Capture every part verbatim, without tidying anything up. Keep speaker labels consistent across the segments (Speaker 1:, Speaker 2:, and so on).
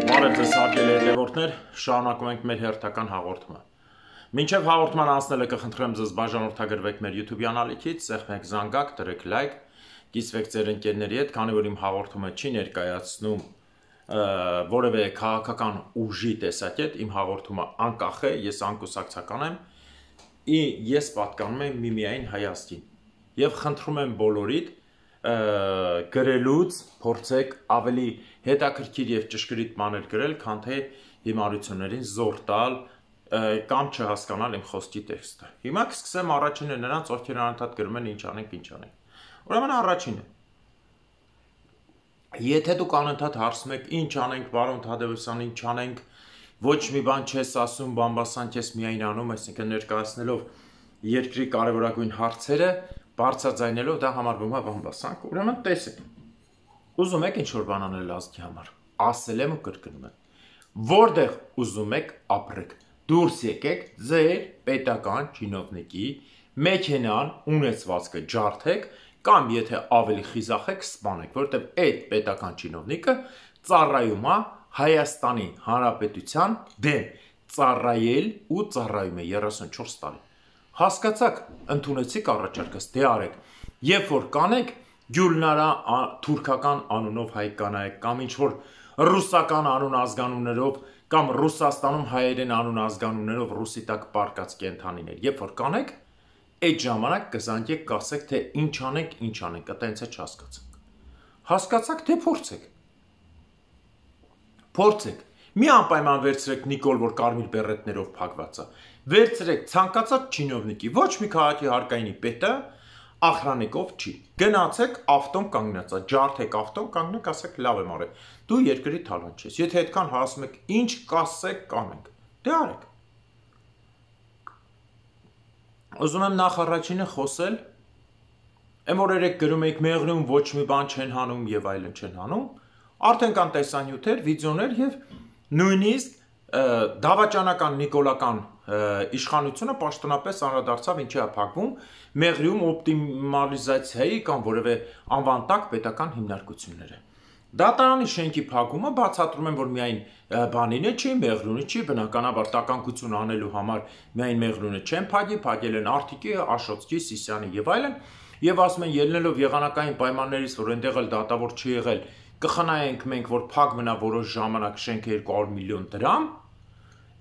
Speaker 1: Բարև ձեզ հարգելի հետևորդներ, շարունակում ենք մեր հերթական հաղորդումը։ Մինչև հաղորդման անցնելը կխնդրեմ ձեզ բաժանորդագրվեք մեր YouTube անալիքից, սեղմեք զանգակ, դրեք լայք, կիսվեք ձեր ընկերների հետ, քանի որ իմ հաղորդումը չի ներկայացնում որևէ քաղաքական ուժի տեսակետ, իմ հաղորդումը անկախ է, ես անկուսակցական եմ, ես պատկանում եմ միմիայն Հայաստին եւ խնդրում եմ բոլորիդ գրելուց փորձեք ավելի հետաքրքիր եւ ճշգրիտ բաներ գրել, քան թե հիմարություններին զոր տալ կամ չհասկանալ իմ խոսքի տեքստը։ Հիմա կսկսեմ առաջինը նրանց, ովքեր անընդհատ գրում են ինչ անենք, ինչ անենք։ Ուրեմն առաջինը։ Եթե դուք անընդհատ հարցում եք ինչ անենք, բարոն Թադևոսյան, ինչ անենք, ոչ մի բան չես ասում, բամբասանք ես միայն անում, այսինքն ներկայացնելով երկրի կարևորագույն հարցերը, բարձրաձայնելով դա համարվում է բամբասանք, ուրեմն տեսեք։ Ուզում եք ինչ-որ բան անել ազգի համար, ասել եմ ու կրկնում եմ։ Որտեղ ուզում եք ապրեք, դուրս եկեք ձեր պետական չինովնիկի մեքենան ունեցվածքը ջարդեք կամ եթե ավելի խիզախ եք սպանեք, որովհետև այդ պետական չինովնիկը ծառայում է Հայաստանի Հանրապետության դեմ, ծառայել ու ծառայում է երեսունչորս տարի։ Հասկացաք, ընդունեցիք առաջարկս, դե արեք, երբ որ կանեք Գյուլնարա թուրքական անունով հայ կանայք կամ ինչ-որ ռուսական անուն ազգանուններով կամ Ռուսաստանում հայերեն անուն ազգանուններով ռուսի տակ պարկած կենդանիներ, երբ որ կանեք, այդ ժամանակ կզանգեք կասեք, թե ինչ անենք, ինչ անենք, այտենց է չհասկացանք։ Հասկացաք, թե փորձեք։ Փորձեք։ Մի անպայման վերցրեք Նիկոլ, որ կարմիր բերետներով փակված է։ Վերցրեք ցանկացած չինովնիկի, ոչ մի քաղաքի հարկայինի պետը ախրանիկով չի։ Գնացեք ավտոն կանգնած է, ջարդեք ավտոն կանգնեք, ասեք լավ եմ արել։ Դու երկրի թալան չես։ Եթե այդքան հասում եք, ինչ կասեք կանենք։ Դե արեք։ Ուզում եմ նախ առաջինը խոսել, եմ որ երեք գրում եք մեղրում ոչ մի բան չեն հանում եւ այլն չեն հանում, արդեն կան տեսանյութեր, վիդեոներ եւ նույնիսկ դավաճանական նիկոլական իշխանությունը պաշտոնապես անդրադարձավ ինչի է փակվում մեղրիում օպտիմալիզացիայի կամ որևէ անվան տակ պետական հիմնարկությունները։ Դատարանի շենքի փակումը բացատրում են, որ միայն բանինը չի, մեղրունը չի, բնականաբար տականկություն անելու համար միայն մեղրունը չեն փակի, փակել են Արթիկի, Աշոտսկի, Սիսյանի եւ այլն, եւ ասում են ելնելով եղանակային պայմաններից, որ այնտեղ էլ դատավոր չի եղել, կխնայենք մենք, որ փակ մնա որոշ ժամանակ շենքը երկու հարյուր միլիոն դրամ,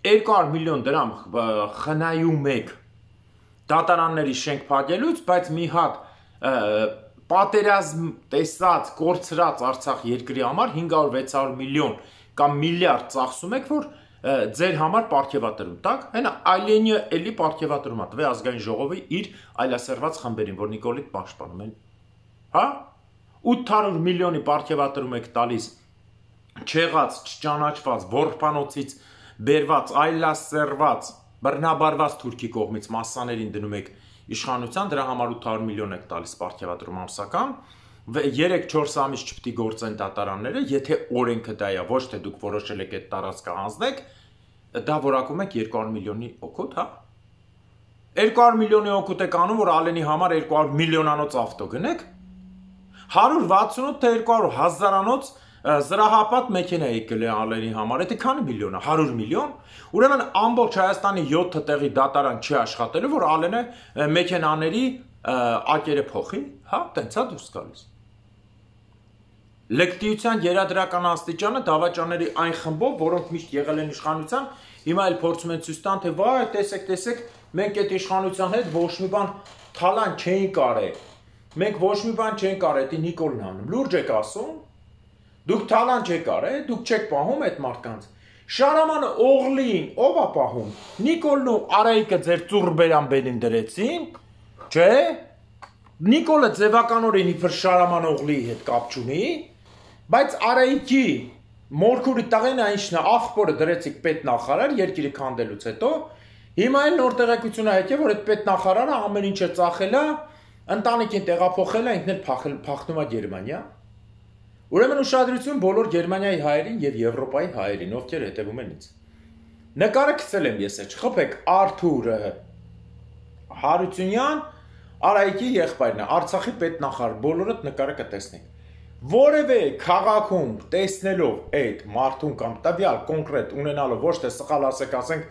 Speaker 1: երկու հարյուր միլիոն դրամ խնայում եք դատարանների շենք փակելուց, բայց մի հատ պատերազմ տեսած, կորցրած Արցախ երկրի համար հինգ հարյուր վեց հարյուր միլիոն կամ միլիարդ ծախսում եք, որ ձեր համար պարգևատրում տակ, հենա այլենյը էլի պարգևատրում է, տվե ազգային ժողովի իր այլասերված խմբերին, որ Նիկոլիտ պաշտպանում են, հա, ութ հարյուր միլիոնի պարգևատրում եք տալիս չեղած, չճանաչված, որբանոցից բերված, այլասերված, բռնաբարված թուրքի կողմից մասսաներին դնում եք իշխանության, դրա համար ութ հարյուր միլիոն եք տալիս պարգևատրում ամսական, երեք չորս ամիս չպետք է գործեն դատարանները, եթե օրենքը դա է, ոչ թե դուք որոշել եք այդ տարածքը հանձնեք, դա որակում եք երկու հարյուր միլիոնի օգուտ, հա։ երկու հարյուր միլիոնի օգուտ եք անում, որ Ալենի համար երկու հարյուր միլիոնանոց ավտո գնեք, հարյուր վաթսունութ թե երկու հարյուր հազարանոց զրահապատ մեքենա եք գնել Ալենի համար, դա քանի միլիոն է, հարյուր միլիոն, ուրեմն ամբողջ Հայաստանի յոթ տեղի դատարան չի աշխատելու, որ Ալենը մեքենաների ակերը փոխի, հա, տենց է դուրս գալիս։ Լկտիության երադրական աստիճանը դավաճանների այն խմբով, որոնք միշտ եղել են իշխանության, հիմա էլ փորձում են ցույց տան, թե վայ, տեսեք, տեսեք, մենք այդ իշխանության հետ ոչ մի բան թալան չէինք արել։ Մենք ոչ մի բան չենք արել, դա Նիկոլն անում։ Լուրջ եք ասում։ Դուք թալան չեք արել, դուք չեք պահում այդ մարդկանց։ Շարամանը Օղլին ով է պահում։ Նիկոլն ու Արայիկը ձեր ծուրբերան բերին դրեցին, չէ՞։ Նիկոլը ձևականորեն իբր Շարաման Օղլիի հետ կապ չունի, բայց Արայիկի մորքուրի տղեն այնիշն է, աղբորը դրեցիք պետնախարար երկիրը քանդելուց հետո, հիմա էլ նոր տեղեկություն է եկել, որ այդ պետնախարարը ամեն ինչը ծախել է, ընտանիքին տեղափոխել է, ինքն էլ փախնում է Գերմանիա։ Ուրեմն ուշադրություն բոլոր Գերմանիայի հայերին եւ Եվրոպայի հայերին, ովքեր հետևում են ինձ։ Նկարը գցել եմ ես, չխփեք, Արթուր Հարությունյան, Արայիկի եղբայրն է, Արցախի պետնախարար, բոլորդ նկարը կտեսնենք։ Որևէ քաղաքում տեսնելով այդ մարդուն կամ տվյալ կոնկրետ ունենալով ոչ թե սխալ ասեք, ասենք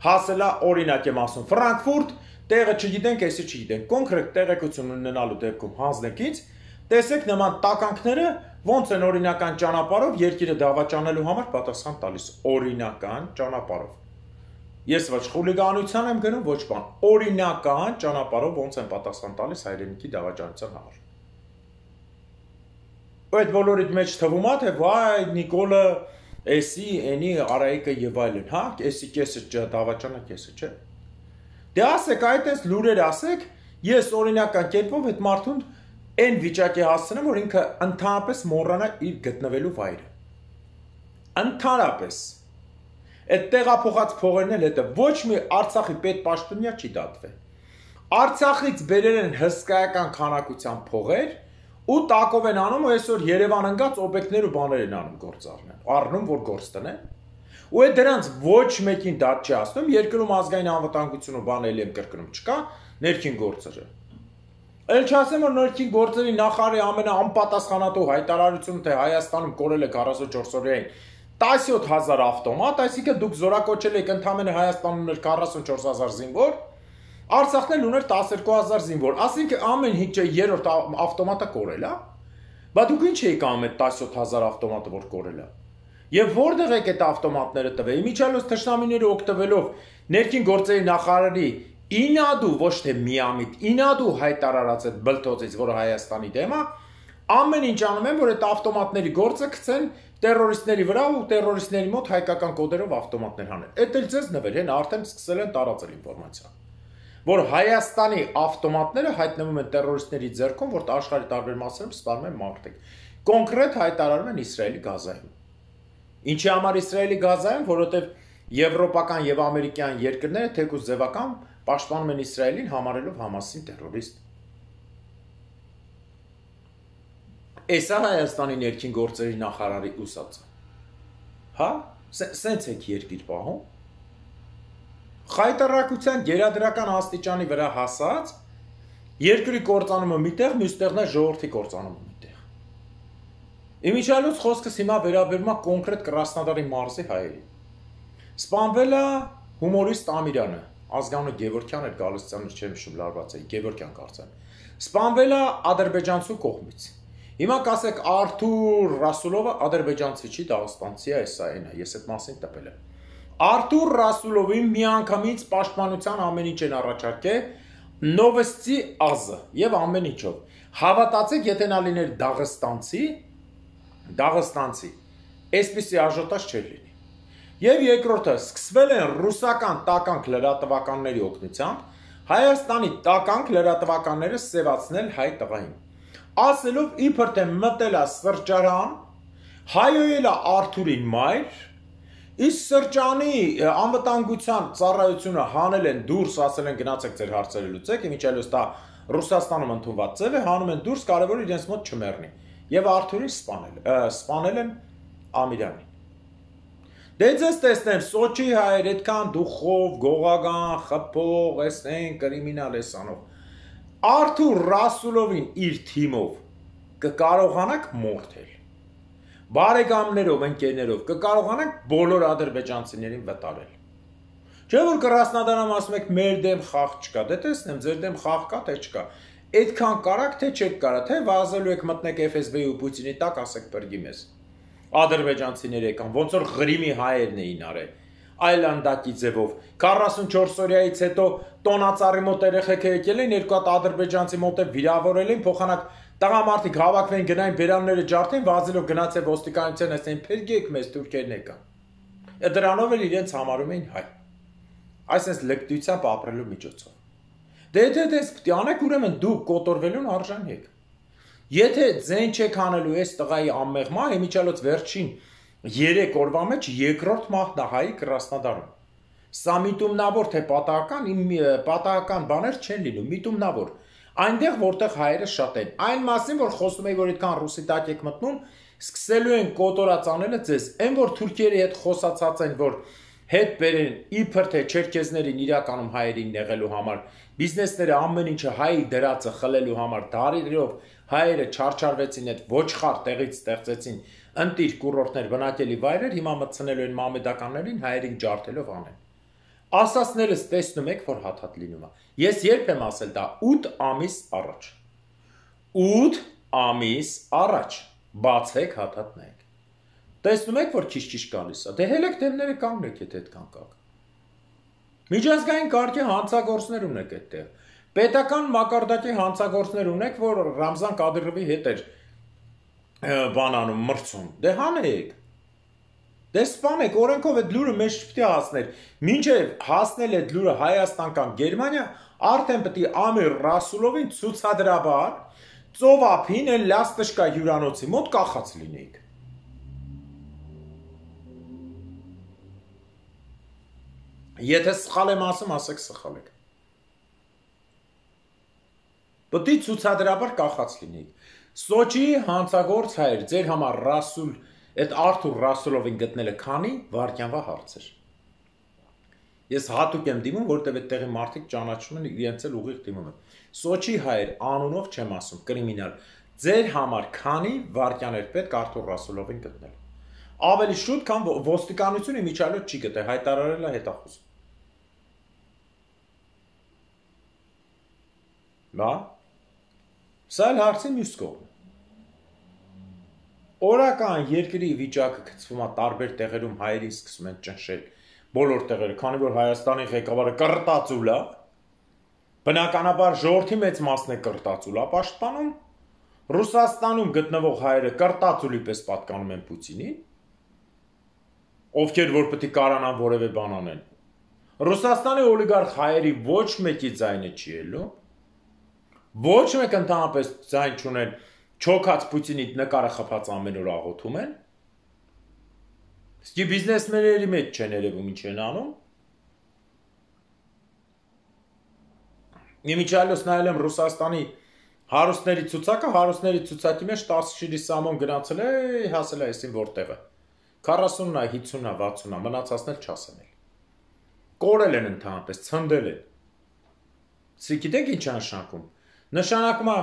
Speaker 1: հասելա օրինակ եմ ասում Ֆրանկֆուրտ, տեղը չգիտենք, էսի չգիտենք, կոնկրետ տեղեկություն ունենալու դեպքում հանձնեկից տեսեք նման տականքները ոնց են օրինական ճանապարհով երկիրը դավաճանելու համար պատասխան տալիս, օրինական ճանապարհով։ Ես ոչ խուլիգանության եմ գնում, ոչ բան, օրինական ճանապարհով ոնց են պատասխան տալիս հայրենիքի դավաճանության համար։ Այդ բոլորիդ մեջ թվում է, թե վայ Նիկոլը էսի, էնի Արայիկը եւ այլն, հա, էսի կեսը դավաճանը կեսը, չէ։ Դե ասեք, այդպես լուրեր ասեք, ես օրինական կերպով այդ մարդուն այն վիճակի հասցնեմ, որ ինքը ընդհանրապես մոռանա իր գտնվելու վայրը։ Ընդհանրապես այդ տեղափոխած փողերն էլ հետը ոչ մի Արցախի պետպաշտոնյա չի դատվել։ Արցախից բերել են հսկայական քանակության փողեր ու տակով են անում ու այսօր Երևան ընկած օբյեկտներ ու բաներ են անում գործառնեն, առնում որ գործ տնեն։ Ու այդ դրանց ոչ մեկին դատ չի ասում, երկրում ազգային անվտանգություն ու բան էլի եմ կրկնում չկա, ներքին գործերը։ Էլ չասեմ, որ ներքին գործերի նախարարի ամենաանպատասխանատու հայտարարությունը, թե Հայաստանում կորել է քառասունչորս օրյային տասնյոթ հազար ավտոմատ, այսինքն դուք զորակոչել եք ընդամենը Հայաստանում ուներ քառասունչորս հազար զինվոր, Արցախն էլ ուներ տասնյոթ հազար զինվոր, ասինքն ամեն ինչը երրորդ ավտոմատը կորել է, բա դուք ինչ եք անում այդ տասնյոթ հազար ավտոմատը, որ կորել է։ Եվ որտեղ եք այդ ավտոմատները տվել, իմիջիալոց թշնամիները օգտվելով ներքին գործերի նախարարի ինադու, ոչ թե միամիտ, ինադու հայտարարած այդ բլթոցից, որը Հայաստանի դեմ է, ամեն ինչ անում են, որ այդ ավտոմատների գործը գցեն տերորիստների վրա ու տերորիստների մոտ հայկական կոդերով ավտոմատներ հանեն։ Էդ էլ ձեզ նվեր են, արդեն սկսել են տարածել ինֆորմացիա, որ Հայաստանի ավտոմատները հայտնվում են տերորիստների ձեռքում, որ աշխարհի տարբեր մասերում սպանում են մարդիկ։ Կոնկրետ հայտարարում են Իսրայելի Գազայում։ Ինչի համար Իսրայելի Գազայում, որովհետև եվրոպական եւ ամերիկյան երկրները թեկուզ ձևական պաշտպանում են Իսրայելին, համարելով Համասին տերորիստ։ Էսա Հայաստանի ներքին գործերի նախարարի ուսացը։ Հա, սենց եք երկիր պահում։ Խայտարակության գերադրական աստիճանի վրա հասած երկրի կործանումը միտեղ, մյուստեղն է ժողովրդի կործանումը միտեղ։ Իմիջիալոց խոսքս հիմա վերաբերում է կոնկրետ Կրասնոդարի մարզի հայերի։ Սպանվել է հումորիստ Ամիրյանը, ազգանունը Գևորգյան էր, Գալստյանը չեմ հիշում լարված էի, Գևորգյան կարծեմ։ Սպանվել է ադրբեջանցու կողմից։ Հիմա կասեք Արթուր Ռասուլովը ադրբեջանցի չի, դաղստանցի է, սա այն է, ես այդ մասին տպել եմ։ Արթուր Ռասուլովին միանգամից պաշտպանության ամեն ինչ են առաջարկել Նովոստի ազը եւ ամեն ինչով։ Հավատացեք, եթե նա լիներ դաղստանցի, դաղստանցի, այսպիսի աժոտաժ չէր լինի։ Եվ երկրորդը, սկսվել են ռուսական տականք լրատվականների օգնությամբ Հայաստանի տականք լրատվականները սևացնել հայ տղային։ Ասելով իբր թե մտել է սրճարան, հայոյել է Արթուրին մայր, իսկ սրճանի անվտանգության ծառայությունը հանել են դուրս, ասել են գնացեք ձեր հարցերը լուծեք, իմիջիալոց դա Ռուսաստանում ընդունված ձև է, հանում են դուրս, կարևոր իրենց մոտ չմեռնի։ Եվ Արթուրին սպանել, սպանել են Ամիրյանին։ Դե ձեզ տեսնեմ, Սոչի հայեր, այդքան դուխով, գողական, խփող, էսեն, կրիմինալ էսանով։ Արթուր Ռասուլովին իր թիմով կկարողանաք մորթել, բարեկամներով, ընկերներով կկարողանաք բոլոր ադրբեջանցիներին վտարել։ Չէ՞ որ Կրասնոդարում ասում եք մեր դեմ խաղ չկա, դե տեսնեմ ձեր դեմ խաղ կա թե չկա, այդքան կարաք թե չեք կարա, թե վազելու եք մտնեք Էֆ Էս Բի-ի ու Պուտինի տակ, ասեք բրգի մեզ։ Ադրբեջանցիներ եկան, ոնց որ Ղրիմի հայերն էին արել, այլանդակի ձևով, քառասունչորս օրյայից հետո տոնածառի մոտ երեխեք եկել են, երկու հատ ադրբեջանցի մոտ վիրավորել են, փոխանակ տղամարդիկ հավաքվեն, գնային բերանները ջարդեն, վազելով գնացել ոստիկանության, ասեն փրկեք մեզ, թուրքերն եկան։ Դրանով էլ իրենց համարում էին հայ։ Այսպես լկտությամբ ապրելու միջոցով։ Դե դե դες պիտի անեք, ուրեմն դուք կոտորվելուն արժան եք։ Եթե ձեն չեք անելու այս տղայի անմեղմա, իմիջիալոց վերջին երեք օրվա մեջ երկրորդ մահն է հայի Կրասնոդարում։ Սա միտումնավոր թե պատահական, պատահական բաներ չեն լինում, միտումնավոր։ Այնտեղ որտեղ հայերը շատ են։ Այն մասին, որ խոսում էի, որ այդքան ռուսի տակ եք մտնում, սկսելու են կոտորած անելը ձեզ։ Այն որ թուրքերի հետ խոսացած են, որ հետ բերեն իբր թե չերքեզներին իրականում հայերին նեղելու համար, բիզնեսները ամեն ինչը հայի դրածը խլելու համար, դարերով հայերը չարչարվեցին, այդ ոչխար տեղից ստեղծեցին ընտիր կուրորտներ, բնակելի վայրեր, հիմա մտցնելու են մամեդականներին հայերին ջարդելով անեն։ Ասածներս տեսնում եք, որ հաթաթ լինում է։ Ես երբ եմ ասել դա ութ ամիս առաջ։ ութ ամիս առաջ բացեք հաթաթ նայեք։ Տեսնում եք, որ քիչ-քիչ գալիս է։ Դե հելեք դեմները կանգնեք, եթե այդքան կաք։ Միջազգային կարգի հանցագործներ ունեք այդտեղ։ Պետական մակարդակի հանցագործներ ունեք, որ Ռամզան Կադիրովի հետ էր բանանում, մրցում։ Դե հանեք։ Դե սպանեք, օրենքով այդ լուրը մեզ չպետք է հասներ։ Մինչև հասնել այդ լուրը Հայաստան կամ Գերմանիա, արդեն պետք է Ամիր Ռասուլովին ցուցադրաբար ծովափին են լաստշկա հյուրանոցի մոտ կախած լինեիք։ Եթե սխալ եմ ասում, ասեք սխալ եք։ Պետք է ցուցադրաբար կախած լինեիք։ Սոչիի հանցագործ հայր, ձեր համար Ռասուլ, այդ Արթուր Ռասուլովին գտնելը քանի վայրկյանվա հարց էր։ Ես հատուկ եմ դիմում, որտեղ այդտեղի մարդիկ ճանաչում են իրենց էլ ուղիղ դիմում են։ Սոչի հայր անունով չեմ ասում, կրիմինալ։ Ձեր համար քանի վայրկյան էր պետք Արթուր Ռասուլովին գտնել։ Ավելի շուտ, քան ոստիկանությունը միջալոց չի գտել, հայտարարել է հետախուզ։ Բա։ Սա էլ հարցի մյուս կողմն է։ Օրական երկրի վիճակը գծվում է տարբեր տեղերում հայերին սկսում են ճնշել բոլոր տեղերը, քանի որ Հայաստանի ղեկավարը կռտածուլ է, բնականաբար ժողովրդի մեծ մասն է կռտածուլ է պաշտպանում, Ռուսաստանում գտնվող հայերը կռտածուլի պես պատկանում են Պուտինին, ովքեր որ պետք է կարանան որևէ բան անեն։ Ռուսաստանի օլիգարխ հայերի ոչ մեկի ձայնը չի ելնում, ոչ մեկ ընդհանրապես ձայն չունեն, չոքած Պուտինի նկարը խփած ամեն օր աղոթում են։ Իսկ բիզնեսմենների մեջ չեն երևում ինչ են անում։ Իմիջիալոց նայել եմ Ռուսաստանի հարուստների ցուցակը, հարուստների ցուցակի մեջ տասը շիրի սամոն գնացել է, հասել է այսին որտեղը։ քառասունն է, հիսունն է, վաթսունն է, մնացածն էլ չասեն էլ։ Կորել են ընդհանրապես, ցնդել են։ Իսկ գիտեք ինչ նշանակում։ Նշանակում է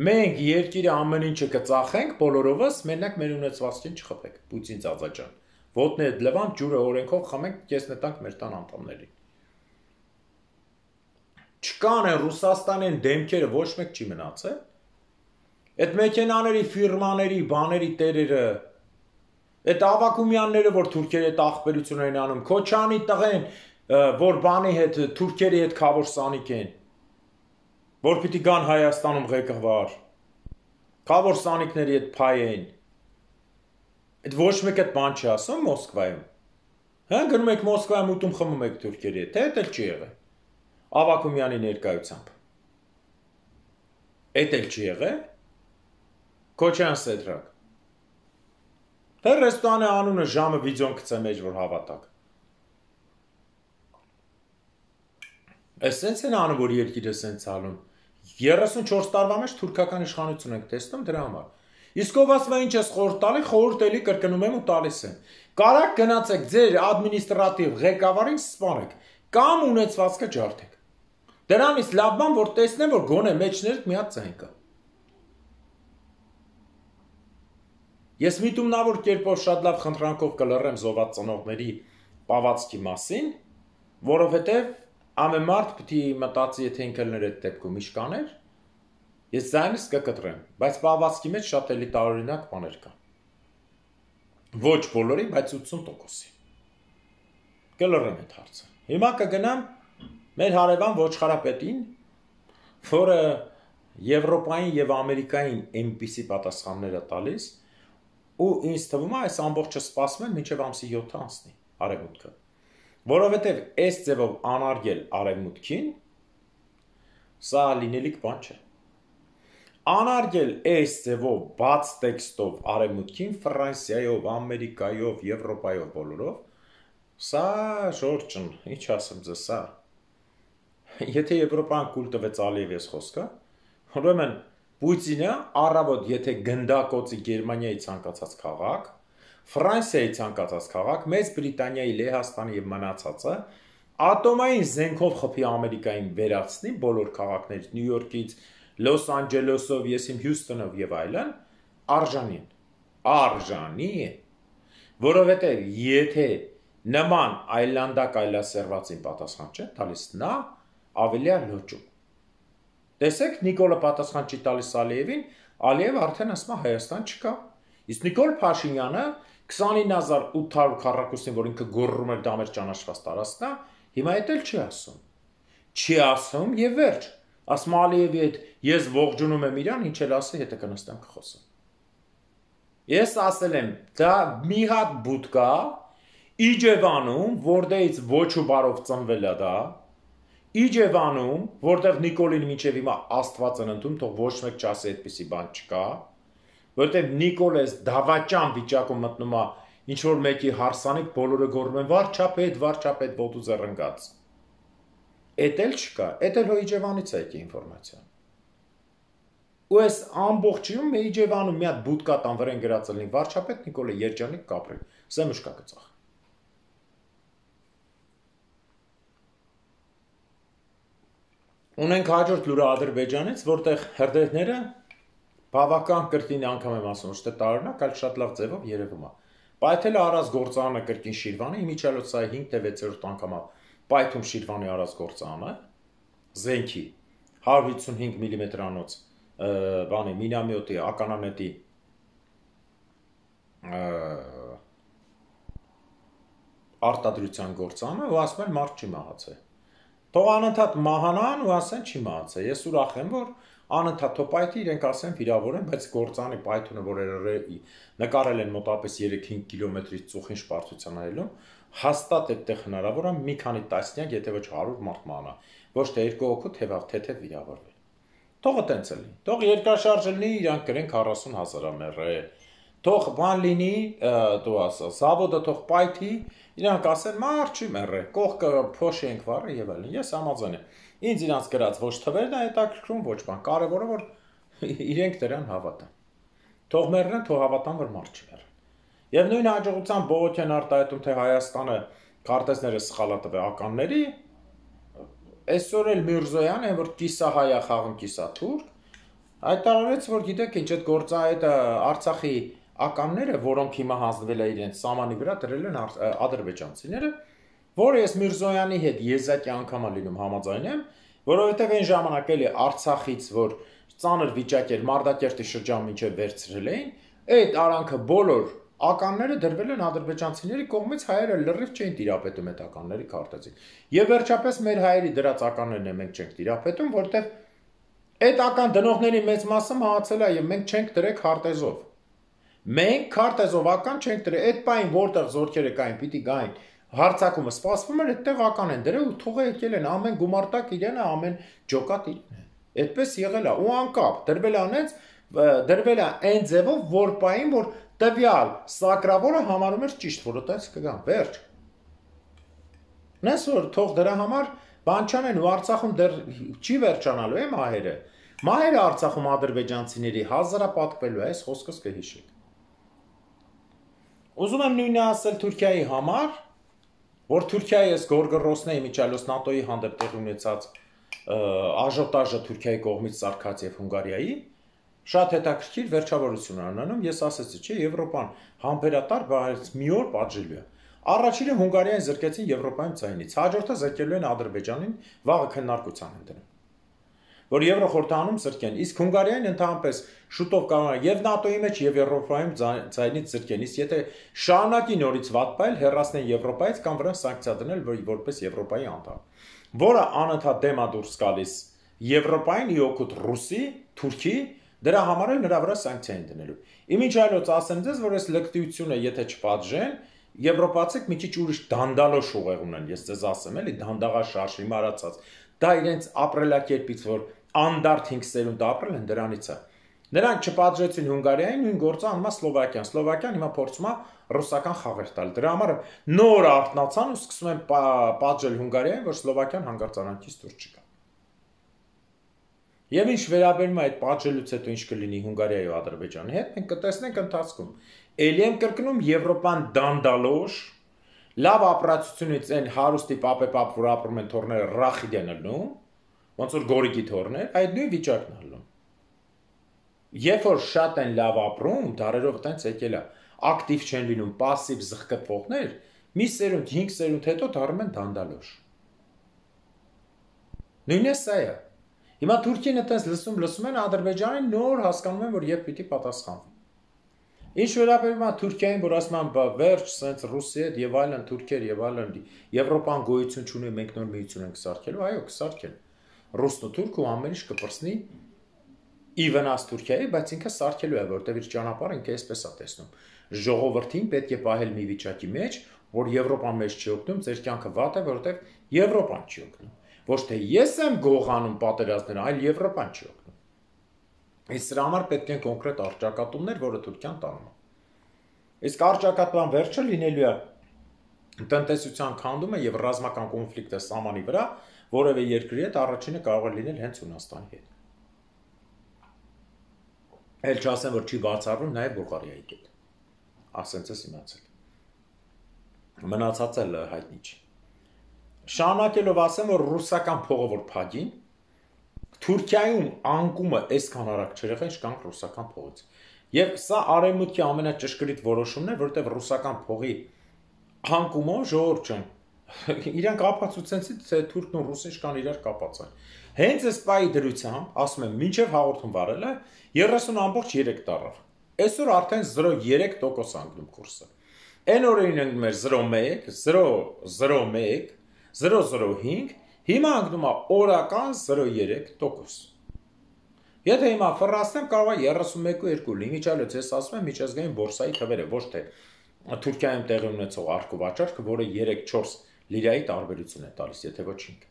Speaker 1: մենք երկիրը ամեն ինչը կծախենք բոլորովս, մենակ մեր ունեցվածքին չխփեք, Պուտին ծածաճան։ Ոտնի այդ լվան ջուրը օրենքով խմենք, կեսնետանք մեր տան անդամներին։ Չկան են Ռուսաստանի են դեմքերը ոչ մեկ չի մնացել։ Այդ մեքենաների, ֆիրմաների, բաների տերերը, այդ Ավակումյանները, որ թուրքերի հետ աղբերություն են անում, Քոչանի տղեն, որ բանի հետ թուրքերի հետ քավոր սանիկ են, որ պիտի գան Հայաստանում ղեկավար, քավոր սանիկների հետ փայ են։ Այդ ոչ մեկ այդ բան չի ասում Մոսկվայում։ Հա գնում եք Մոսկվայում ուտում խմում եք թուրքերի հետ, դա էլ չի եղել։ Ավակումյանի ներկայությամբ։ Էդ էլ չի եղել։ Քոչյան Սեդրակ։ Թե ռեստորանի անունը ժամը վիդեոն գցե մեջ որ հավատակ։ Էս սենց են անում, որ երկիրը սենց ալում։ երեսունչորս տարվա մեջ թուրքական իշխանություն ենք տեսնում դրա համար։ Իսկ ով ասում է ինչ ես խորհուրդ տալի, խորհուրդ էլի կրկնում եմ ու տալիս եմ։ Կարակ գնացեք ձեր ադմինիստրատիվ ղեկավարին սպանեք կամ ունեցվածքը ջարդեք։ Դրանից լավ բան որ տեսնեմ որ գոնե մեջներդ մի հատ ձայն կա։ Ես միտումնավոր կերպով շատ լավ խնդրանքով կլռեմ զոհված ծնողների պահվածքի մասին, որովհետև ամեն մարդ պետք է մտածի, եթե ինքը լներ այդ դեպքում իշկաներ, ես ձայնս կկտրեմ, բայց պահվածքի մեջ շատ էլի տարօրինակ բաներ կան։ Ոչ բոլորի, բայց ութսուն տոկոսի։ Կլռեմ այդ հարցը։ Հիմա կգնամ մեր հարևան ոչխարապետին, որը Եվրոպային եւ Ամերիկային այնպիսի պատասխաններ է տալիս, ու ինձ թվում է այս ամբողջը սպասում են մինչև ամսի յոթը անցնի արևմուտքը։ Որովհետև այս ձևով անարգել արևմուտքին, սա լինելիք բան չէ։ Անարգել այս ձևով բաց տեքստով արևմուտքին, Ֆրանսիայով, Ամերիկայով, Եվրոպայով բոլորով, սա շորջն, ինչ ասեմ ձեզ, սա։ Եթե Եվրոպան կուլ տվեց Ալիևի խոսքը, ուրեմն Պուտինը առավոտ եթե գնդակոծի Գերմանիայի ցանկացած քաղաք, Ֆրանսիայի ցանկացած քաղաք, Մեծ Բրիտանիայի, Լեհաստանի եւ մնացածը ատոմային զենքով խփի Ամերիկային վերացնի բոլոր քաղաքներից Նյու Յորքից, Լոս Անջելեսով, ես իմ Հյուսթոնով եւ այլն, արժանի են։ Արժանի են։ Որովհետեւ եթե նման այլանդակ այլասերվածին պատասխան չէ տալիս, նա ավելի է լոճում։ Տեսեք, Նիկոլը պատասխան չի տալիս Ալիևին, Ալիևը արդեն ասում է Հայաստան չկա։ Իսկ Նիկոլ Փաշինյանը քսանինը հազար ութ հարյուր քառակուսին, որ ինքը գոռում էր դա մեր ճանաչված տարածքն է, հիմա էդ էլ չի ասում։ Չի ասում եւ վերջ։ Ասում Ալիևի հետ ես ողջունում եմ իրան, ինչ էլ ասի, հետը կնստեմ կխոսեմ։ Ես ասել եմ, դա մի հատ բուտ կա Իջևանում, որտեղից ոչ ու բարով ծնվել է դա, Իջևանում, որտեղ Նիկոլին մինչև հիմա Աստված են ընդունում, թող ոչ մեկ չասի այդպիսի բան չկա, որտեղ Նիկոլես դավաճան վիճակում մտնում է ինչ որ մեկի հարսանիք, բոլորը գոռում են վարչապետ, վարչապետ ոտու զռնգաց։ Էդ էլ չկա, էդ էլ հո Իջևանից է եկի ինֆորմացիան։ Ու այս ամբողջիում Իջևանում մի հատ բուտկա տան վրան գրածել լինի վարչապետ Նիկոլը Երջանիկ Կապրել, Սեմուշկա գծախ։ Ունենք հաջորդ լուրը Ադրբեջանից, որտեղ հրդեհները բավական կրկին անգամ եմ ասում, ոչ թե տարօրինակ, այլ շատ լավ ձևով երևում է։ Պայթել է Արազ գործարանը կրկին Շիրվանի, իմիջիալոց սա հինգ թե վեցերորդ անգամ է պայթում Շիրվանի Արազ գործարանը, զենքի հարյուր հիսունհինգ միլիմետրանոց բանի մինամյոտի, ականանետի արտադրության գործարանը, ու ասում են մարդ չի մահացել։ Թող անընդհատ մահանան ու ասեն չի մահացել։ Ես ուրախ եմ, որ անընդհատ թոպայթի իրենք ասեն վիրավոր են, բայց գործանի պայթունը, որ նկարել են մոտապես երեք-հինգ կիլոմետրից ծուխին շպարծության այլում, հաստատ այդտեղ հնարավոր է մի քանի տասնյակ, եթե ոչ հարյուր մարդ մահանա, ոչ թե երկու հոգու թեվավ թեթև վիրավորվել։ Թողը տենց լինի։ Թող երկրաշարժ լինի, իրանք գրեն քառասուն հազար ամեռել։ Թող բան լինի, դու ասա, զավոդը թող պայթի, իրանք ասեն մարդ չի մեռել, կողքը փոշի ենք վառը եւ այլն։ Ես համաձայն եմ։ Ինձ իրանք գրած ոչ թվերն է հետաքրքրում, ոչ բան։ Կարևորը որ իրենք դրան հավատան։ Թող մեռնեն, թող հավատան, որ մարդ չի մեռել։ Եվ նույն հաջողությամբ Բողոքյան արտահայտում, թե Հայաստանը քարտեզները սխալ է տվել ականների, այսօր էլ Միրզոյան է, որ կիսահայ է խաղում կիսաթուրք, հայտարարեց, որ գիտեք ինչ այդ գործա այդ Արցախի ականները, որոնք հիմա հանձնվել է իրենց սամանի վրա դրել են ադրբեջանցիները, որ ես Միրզոյանի հետ եզակի անգամ լինում համաձայն եմ, որովհետև այն ժամանակ էլի Արցախից, որ ծանր վիճակ էր Մարտակերտի շրջան մինչև վերցրել էին, այդ արանքը բոլոր ականները դրվել են ադրբեջանցիների կողմից, հայերը լրիվ չէին տիրապետում այդ ականների քարտեզին։ Եվ վերջապես մեր հայերի դրած ականներն է մենք չենք տիրապետում, որտեղ այդ ական դնողների մեծ մասը մահացել է եւ մենք չենք դրել քարտեզով։ Մենք քարտեզով ական չենք դրել, այդ պայն որտեղ զորքերը կային, պիտի գային, հարցակումը սպասվում էր, այդտեղ ական են դրել ու թողը եկել են, ամեն գումարտակ իրեն է, ամեն ջոկատ իրեն է։ Այդպես եղել է ու անկապ դրվել է անենց, դրվել է այն ձևով, որ պայն որ տվյալ սակրավորը համարում էր ճիշտ, որ այդպես կգան, վերջ։ Նես որ թող դրա համար բան չանեն ու Արցախում դեռ չի վերջանալու է մահերը։ Մահերը Արցախում ադրբեջանցիների հազարապատկվելու է, այս խոսքս կհիշեք։ Ուզում եմ նույնը ասել Թուրքիայի համար, որ Թուրքիայի այս գորգռոսների միջալոց ՆԱՏՕ-ի հանդեպ տեղի ունեցած աժոտաժը Թուրքիայի կողմից սարքած եւ Հունգարիայի շատ հետաքրքիր վերջավորություն ունենում, ես ասեցի, չէ, Եվրոպան համբերատար, բայց մի օր պատժելու է։ Առաջինը Հունգարիային զրկեցին Եվրոպայում ցայնից, հաջորդը զրկելու են Ադրբեջանին, վաղը քննարկության են դնում։ Որ Եվրոխորհրդանում զրկեն, իսկ Հունգարիային ընդհանրապես շուտով կարող է եւ ՆԱՏՕ-ի մեջ եւ Եվրոպայում ցայնից զրկեն, իսկ եթե շարունակի նորից վատ բայել, հեռացնեն Եվրոպայից կամ վրան սանկցիա դնել, որ որպես Եվրոպայի անդամ, որը անընդհատ դեմա դուրս գալիս Եվրոպային ի օգուտ Ռուսի, Թուրքի, դրա համար էլ նրա վրա սանկցիա են դնելու։ Իմիջիալոց ասեմ ձեզ, որ այս լկտիությունը եթե չպատժեն, Եվրոպացիք մի քիչ ուրիշ դանդալոշ ուղեղ ունեն, ես ձեզ ասեմ, էլի դանդաղաշարժ հիմարացած։ Դա իրենց ապրելակերպից, որ անդարդ հինգ սերունդ ապրել են, դրանից է։ Նրանք չպատժեցին Հունգարիային, նույն գործը անում է Սլովակիան։ Սլովակիան հիմա փորձում է ռուսական խաղեր տալ։ Դրա համար նոր արթնացան ու սկսում են պատժել Հունգարիային, որ Սլովակիան հանգարցարանքից դուրս չգա։ Եվ ինչ վերաբերում է այդ պատժելուց հետո ինչ կլինի Հունգարիայի ու Ադրբեջանի հետ, մենք կտեսնենք ընթացքում։ Էլի եմ կրկնում Եվրոպան դանդալոշ, լավ ապրացությունից են հարուստի պապեպապ, որ ապրում են թորները ռախիդ են ըլնում, ոնց որ գորիքի թորներ, այդ նույն վիճակն ալնում։ Երբ որ շատ են լավ ապրում, դարերով տենց եկել է, ակտիվ չեն լինում, պասիվ զղկտվողներ, մի սերունդ, հինգ սերունդ հետո դառնում են դանդալոշ։ Նույնը սա է։ Հիմա Թուրքին այդպես լսում, լսում են Ադրբեջանին նոր հասկանում են, որ երբ պիտի պատասխանվի։ Ինչ վերաբերում է Թուրքիային, որ ասում են վերջ, սենց Ռուսի հետ եւ այլն, Թուրքեր եւ այլն, Եվրոպան գոյություն չունի, մենք նոր միություն ենք սարքելու, այո, կսարքեն։ Ռուսն ու Թուրքը ամեն ինչ կպրծնի ի վնաս Թուրքիայի, բայց ինքը սարքելու է, որտեղ իր ճանապարհը ինքը այսպես է տեսնում։ Ժողովրդին պետք է պահել մի վիճակի մեջ, որ Եվրոպան մեզ չի օգնում, ձեր կյանքը վատ է, որտեղ Եվրոպան չի օգնում։ Ոչ թե ես եմ գողանում պատերազմները, այլ Եվրոպան չի օգնում։ Իսկ սրա համար պետք են կոնկրետ առճակատումներ, որը Թուրքիան տանում է։ Իսկ առճակատման վերջը լինելու է տնտեսության քանդումը եւ ռազմական կոնֆլիկտը սահմանի վրա, որևէ երկրի հետ առաջինը կարող է լինել հենց Հունաստանի հետ։ Էլ չասեմ, որ չի բացառվում նաև Բուլղարիայի հետ։ Ասենց ես իմացել։ Մնացած էլ հայտնի չի։ Շարունակելով ասեմ, որ ռուսական փողը որ փագին, Թուրքիայում անկումը այսքան արագ չեղել, ինչքան ռուսական փողից։ Եվ սա արևմուտքի ամենաճշգրիտ որոշումն է, որտեղ ռուսական փողի անկումով ժողովուրդ չեն։ Իրանք ապացուցեցին, թե թուրքն ու ռուսը ինչքան իրար կապած են։ Հենց այս պայի դրությամբ, ասում եմ, մինչև հաղորդում վարել է երեսուն ամբողջ երեք տարավ։ Այսօր արդեն զրո երեք տոկոս անգնում կուրսը։ Այն օրերին ընկնում էր զրո մեկ, զրո զրո մեկ, զրո զրո հինգ, հիմա ընկնում է օրական զրո երեք տոկոս։ Եթե հիմա ֆռացնեմ, կարող է երեսունմեկ ու երկու լինի, միջալոց ես ասում եմ միջազգային բորսայի թվերը, ոչ թե Թուրքիայում տեղի ունեցող արկուվաճառքը, որը երեք չորս լիրայի տարբերություն է տալիս, եթե ոչինչ։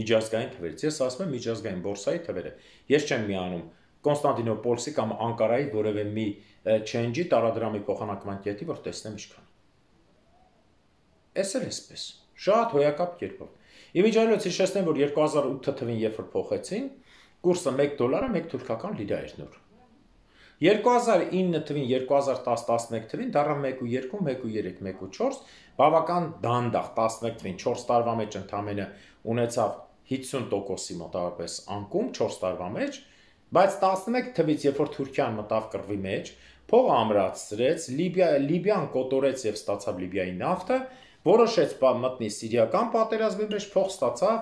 Speaker 1: Միջազգային թվերից ես ասում եմ միջազգային բորսայի թվերը։ Ես չեմ միանում Կոնստանտինոպոլսի կամ Անկարայի որևէ մի չենջի տարադրամի փոխանակման կետի, որ տեսնեմ ինչքան։ Էս էլ էսպես, շատ հոյակապ կերպով։ Իմիջիայլոց հիշեցնեմ, որ երկու հազար ութ թվին երբ որ փոխեցին, կուրսը մեկ դոլարը մեկ թուրքական լիրա էր նոր։ երկու հազար ինը թվին, երկու հազար տասը տասնմեկ թվին դառավ մեկ ու երկու, մեկ ու երեք, մեկ ու չորս, բավական դանդաղ տասնմեկ թվին չորս տարվա մեջ ընդամենը ունեցավ հիսուն տոկոսի մոտավորապես անկում չորս տարվա մեջ, բայց տասնմեկ թվից երբ որ Թուրքիան մտավ կռվի մեջ, փողը ամրացրեց, Լիբիա, Լիբիան կոտորեց եւ ստացավ Լիբիայի նավթը, որոշեց մտնի սիրիական պատերազմի մեջ, փող ստացավ,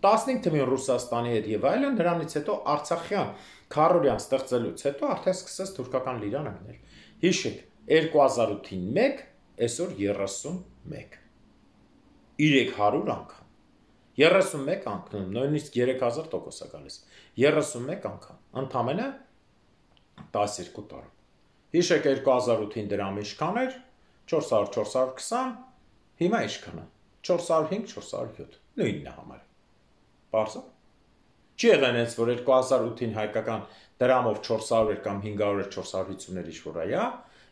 Speaker 1: տասնհինգ թվին Ռուսաստանի հետ եւ այլն, նրանից հետո Արցախյան քարորյան ստեղծելուց հետո արդեն սկսեց թուրքական լիրան ընկնել։ Հիշեք, երկու հազար ութին մեկ, այսօր երեսունմեկ։ երեք հարյուր անգամ։ երեսունմեկ անգամ, նույնիսկ երեք հազար տոկոս է գալիս։ երեսունմեկ անգամ, ընդամենը տասներկու տարում։ Հիշեք երկու հազար ութին դրամը ինչքան էր, չորս հարյուր չորս հարյուր քսան, հիմա ինչքան է, չորս հարյուր հինգ չորս հարյուր յոթ, նույնն է համարը։ Պարզա։ Չի եղել հենց, որ երկու հազար ութին հայկական դրամով չորս հարյուր կամ հինգ հարյուր չորս հարյուր հիսուններ ինչ-որ այա,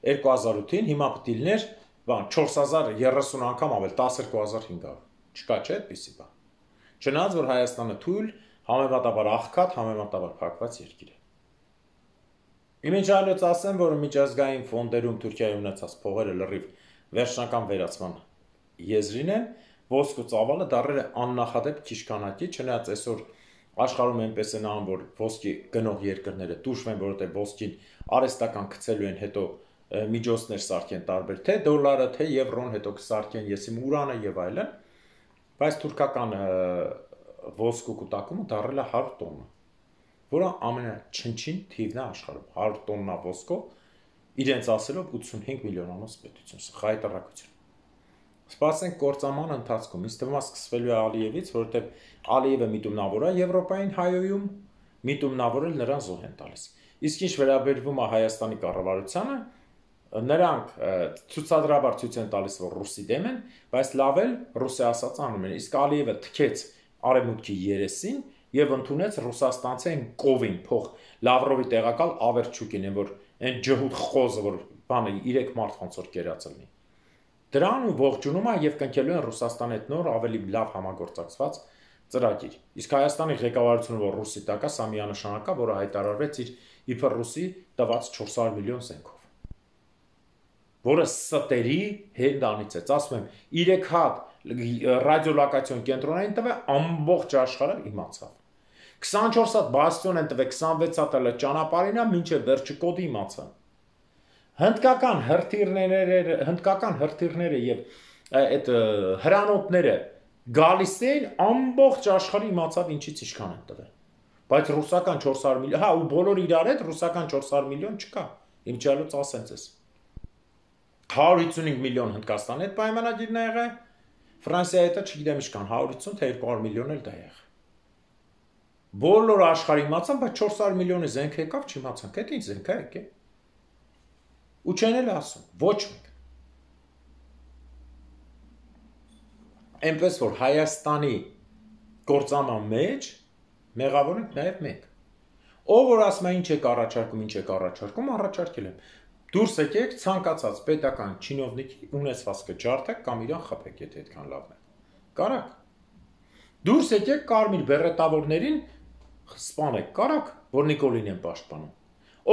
Speaker 1: երկու հազար ութին հիմա պետք է լիներ, բան, չորս հազար երեսուն անգամ ավել, տասներկու հազար հինգ հարյուր։ Չկա չէ այդպիսի բան։ Չնայած որ Հայաստանը թույլ, համեմատաբար աղքատ, համեմատաբար փակված երկիր է։ Իմիջիայլոց ասեմ, որ միջազգային ֆոնդերում Թուրքիայի ունեցած փողերը լրիվ վերջնական վերացման եզրին են, ոսկ ու ծավալը դառել է աննախադեպ քիչ քանակի, չնայած այսօր աշխարհում այնպես են անում, որ ոսկի գնող երկրները տուժվեն, որովհետև ոսկին արհեստական գցելու են, հետո միջոցներ սարքեն տարբեր, թե դոլարը, թե եվրոն, հետո կսարքեն եսիմ ուրանը եւ այլն, բայց թուրքական ոսկու կուտակումը դառել է հարյուր տոննա, որը ամենաչնչին թիվն է աշխարհում, հարյուր տոննա ոսկով իրենց ասելով ութսունհինգ միլիոնանոց պետություն, խայտարակություն։ Սպասենք կործանման ընթացքում, ինձ թվում է սկսվելու է Ալիևից, որովհետև Ալիևը միտումնավոր է Եվրոպային հայոյում, միտումնավորել նրան զոհ են տալիս։ Իսկ ինչ վերաբերվում է Հայաստանի կառավարությանը, նրանք ցուցադրաբար ցույց են տալիս, որ ռուսի դեմ են, բայց լավ էլ ռուսի ասած անում են։ Իսկ Ալիևը թքեց արևմուտքի երեսին եւ ընդունեց ռուսաստանցին կովին փող Լավրովի տեղակալ Ավերչուկին, որ այն ջհուդ խոզը, որ բանը երեք մարդ ոնց որ կերած լինի։ Դրան ու ողջունում է եւ կնքելու են Ռուսաստանի հետ նոր ավելի լավ համագործակցված ծրագիր։ Իսկ Հայաստանի ղեկավարությունը, որ ռուսի տակ է, սա միանշանակ է, որը հայտարարվեց իր իբր ռուսի տված չորս հարյուր միլիոն զենքով։ որը ստերի հենդանից է, ասում եմ, երեք հատ ռադիոլոկացիոն կենտրոնային տվե ամբողջ աշխարհը իմացավ։ քսանչորս հատ բաստիոն են տվե, քսանվեց հատը ճանապարհին է, մինչև վերջը կոդի իմացան։ Հնդկական հրթիռները, հնդկական հրթիռները եւ այդ հրանոթները գալիս էին ամբողջ աշխարհը իմացավ ինչից ինչքան են տվել։ Բայց ռուսական չորս հարյուր միլիոն, հա, ու բոլոր իրար հետ ռուսական չորս հարյուր միլիոն չկա։ Իմ չալուց ասեմ ձեզ։ հարյուր հիսունհինգ միլիոն Հնդկաստանի հետ պայմանագիրն ա եղել, Ֆրանսիայի հետ չգիտեմ ինչքան, հարյուր հիսուն թե երկու հարյուր միլիոն էլ դա եղել։ Բոլոր աշխարհը իմացան, բայց չորս հարյուր միլիոնի զենք եկավ, չիմացան, դա ինչ զենք է եկել։ Ու չեն էլ ասում, ոչ մեկ։ Այնպես որ Հայաստանի գործանման մեջ մեղավոր ենք նաև մենք։ Ով որ ասում է ինչ եք առաջարկում, ինչ եք առաջարկում, առաջարկել եմ։ Դուրս եկեք ցանկացած պետական չինովնիկի ունեցվածքը ջարդեք կամ իրան խփեք, եթե այդքան լավն է։ Կարակ։ Դուրս եկեք կարմիր բերետավորներին սպանեք, կարակ, որ Նիկոլին են պաշտպանում։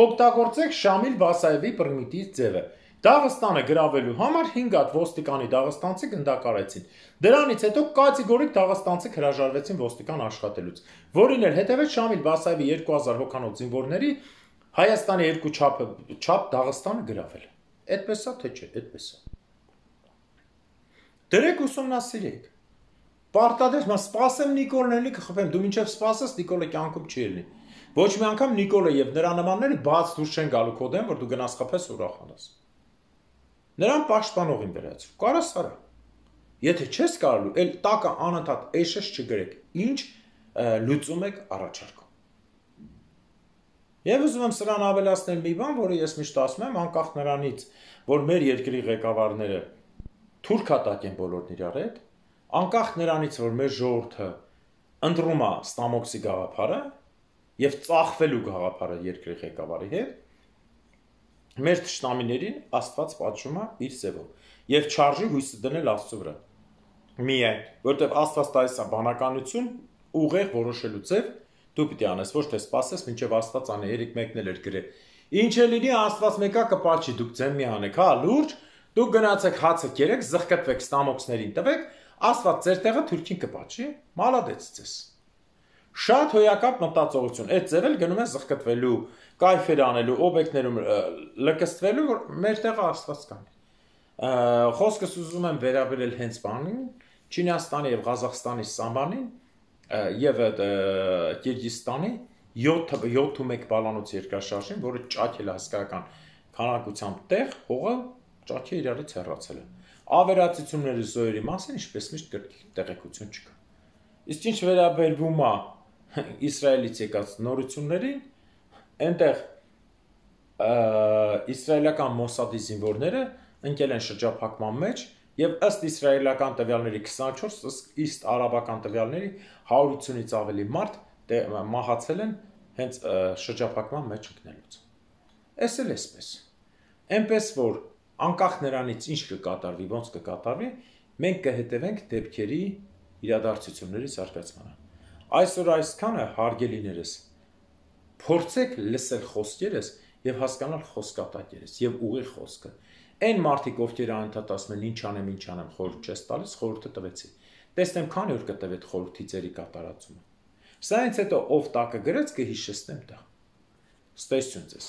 Speaker 1: Օգտագործեք Շամիլ Բասաևի պրիմիտիվ ձևը։ Դաղստանը գրավելու համար հինգ հատ ոստիկանի դաղստանցի գնդակարեցին։ Դրանից հետո կատեգորիկ դաղստանցի հրաժարվեցին ոստիկան աշխատելուց, որին էլ հետևեց Շամիլ Բասաևի երկու հազար հոգանոց զինվորների Հայաստանի երկու չափը չափ Դաղստանը գրավել։ Այդպես է թե չէ, այդպես է։ Դրեք ուսումնասիրեք։ Պարտադիր, մա սպասեմ Նիկոլն էլի կխփեմ, դու մինչև սպասես Նիկոլը կյանքում չի ելնի։ Ոչ մի անգամ Նիկոլը եւ նրա նմանները բաց դուրս չեն գալու կոդեն, որ դու գնաս խփես ուրախանաս։ Նրան պաշտպանողին վերածու։ Կարաս արա։ Եթե չես կարելու, էլ տակը անընդհատ էշես չգրեք, ինչ լուծում եք առաջարկում։ Եվ ուզում եմ սրան ավելացնել մի բան, որը ես միշտ ասում եմ, անկախ նրանից, որ մեր երկրի ղեկավարները թուրքատակ են բոլորն իրար հետ, անկախ նրանից, որ մեր ժողովուրդը ընտրում է Ստամոքսի գաղափարը եւ ծախվելու գաղափարը երկրի ղեկավարի հետ, մեր թշնամիներին Աստված պատժում է իր ձևով եւ չարժի հույսը դնել Աստծո վրա։ Միայն, որտեղ Աստված տալիս է բանականություն, ուղեղ որոշելու ձև, դու պիտի անես, ոչ թե սпасես, մինչև Աստված անի, երեք մեկն էլ էր գրել։ Ինչ է լինի, Աստված մեկա կպաչի, դուք ձեն մի անեք, հա, լուրջ, դուք գնացեք հացը կերեք, զղկտվեք Ստամոքսներին տվեք, Աստված ձեր տեղը թուրքին կպաչի, մալադեց ձեզ։ Շատ հոյակապ մտածողություն, այդ ձև էլ գնում է զղկտվելու, կայֆեր անելու, օբյեկտներում լկստվելու, որ մեր տեղը Աստված կանի։ Խոսքս ուզում եմ վերաբերել հենց բանին, Չինաստանի եւ Ղազախստանի սամբանին եւ Կիրգիզստանի յոթ մեկ բալանոց երկրաշարժին, որը ճաքել է հսկայական քանակությամբ տեղ, հողը ճաքի իրարից հեռացել է։ Ավերածությունների զոհերի մասին ինչպես միշտ տեղեկություն չկա։ Իսկ ինչ վերաբերվում է Իսրայելից եկած նորություններին, այնտեղ իսրայելական Մոսադի զինվորները ընկել են շրջափակման մեջ եւ ըստ իսրայելական տվյալների քսանչորս, ըստ արաբական տվյալների հարյուր հիսունից ավելի մարդ մահացել են հենց շրջափակման մեջ ընկնելուց։ Էս էլ էսպես։ Էնպես որ անկախ նրանից ինչ կկատարվի, ոնց կկատարվի, մենք կհետևենք դեպքերի իրադարձությունների զարգացմանը։ Այսօր այսքանը հարգելիներս, փորձեք լսել խոսքերս եւ հասկանալ խոսքատակերս եւ ուղիղ խոսքը։ Այն մարդիկ, ովքեր անընդհատ ասում են ինչ անեմ, ինչ անեմ, խորհուրդ չես տալիս, խորհուրդը տվեցի։ Տեսնեմ քանի օր կտևի այդ խորհրդի ձերի կատարածումը։ Սա ինձ հետո ով տակը գրեց կհիշեցնեմ դա։ Ստեսություն ձեզ։